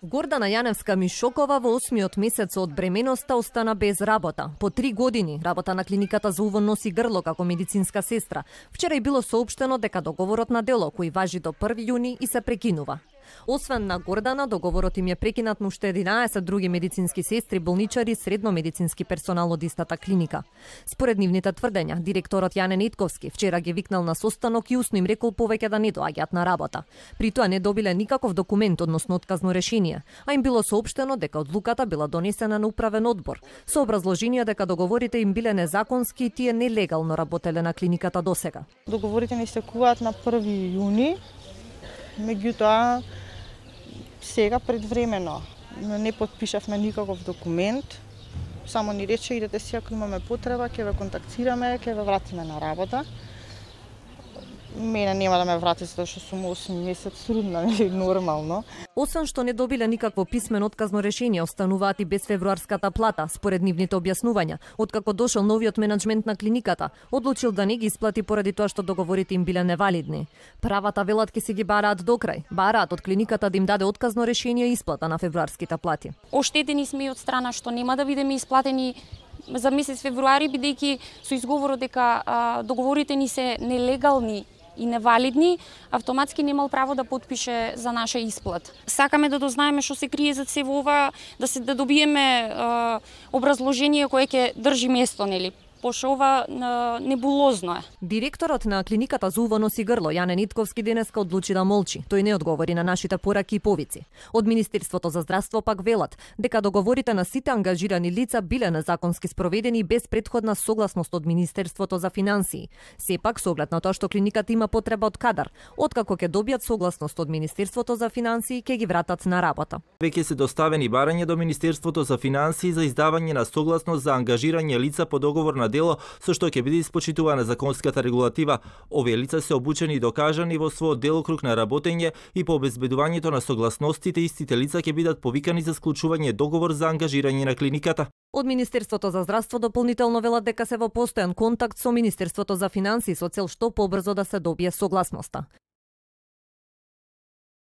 Гордана Јаневска-Мишокова во 8-миот месец од бременоста остана без работа. По 3 години работа на клиниката за увон носи грло како медицинска сестра. Вчера и било соопштено дека договорот на дело кој важи до 1 јуни и се прекинува. Освен на Гордана, договорот им е прекинат на уште 11 други медицински сестри, болничари, средно медицински персонал од истата клиника. Според нивните тврдења, директорот Јане Нетковски вчера ги викнал на состанок и усно им рекол повеќе да не доаѓаат на работа. При тоа не добиле никаков документ, односно отказно решение, а им било соопштено дека одлуката била донесена на управен одбор, со образложение дека договорите им биле незаконски и тие нелегално работеле на клиниката досега. Договорите ни истекуваат на 1 јуни, меѓутоа сега предвремено не подпишавме никаков документ, само ни рече идете си ако имаме потреба, ќе ве контактираме, ќе ве вратиме на работа. Мене нема да ме врати затоа што сум 8 месец трудна, нели нормално. Освен што не добиле никакво писмено отказно решение, остануваат и без февруарската плата, според нивните објаснувања. Откако дошол новиот менаџмент на клиниката, одлучил да не ги исплати поради тоа што договорите им биле невалидни. Правата велат ке си ги бараат до крај. Бараат од клиниката да им даде отказно решение и исплата на февруарските плати. Оштетени сме и од страна што нема да бидеме исплатени за месец февруари, бидејќи со изговорот дека договорите ни се нелегални и невалидни, автоматски немал право да подпише за наша исплат. Сакаме да дознаеме што се крие зад се во ова, да добиеме образложение кое ќе држи место, нели? Пошто ова небулозно е. Директорот на клиниката за увон носи грло, Јане Нетковски, денеска одлучи да молчи. Тој не одговори на нашите пораки и повици. Од Министерството за здравство пак велат дека договорите на сите ангажирани лица биле незаконски спроведени без претходна согласност од Министерството за финансии. Сепак, со оглед на тоа што клиниката има потреба од кадар, откако ќе добијат согласност од Министерството за финансии, ќе ги вратат на работа. Веќе се доставени барања до Министерството за финансии за издавање на согласност за ангажирање лица по договор на дело со што ќе биде испочитувана законската регулатива. Овие лица се обучени и докажани во својот делокруг на работење и по обезбедувањето на согласностите истите лица ќе бидат повикани за склучување договор за ангажирање на клиниката. Од Министерството за здравство дополнително велат дека се во постојан контакт со Министерството за финансии со цел што побрзо да се добие согласноста.